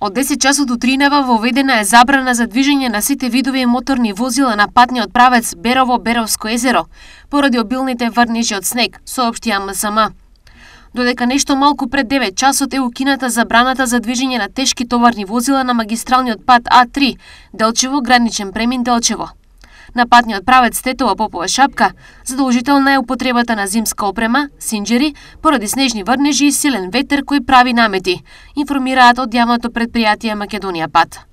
Од 10 часот утринава воведена е забрана за движење на сите видови моторни возила на патниот правец Берово-Беровско езеро, поради обилните врнежи од снег, соопшти АМСМ. Додека нешто малку пред 9 часот е укината забраната за движење на тешки товарни возила на магистралниот пат А3, Делчево, граничен премин Делчево. На патниот правец Тетово-Попова Шапка задолжителна е употребата на зимска опрема, синџери, поради снежни врнежи и силен ветер кој прави намети, информираат од јавното претпријатие Македонија Пат.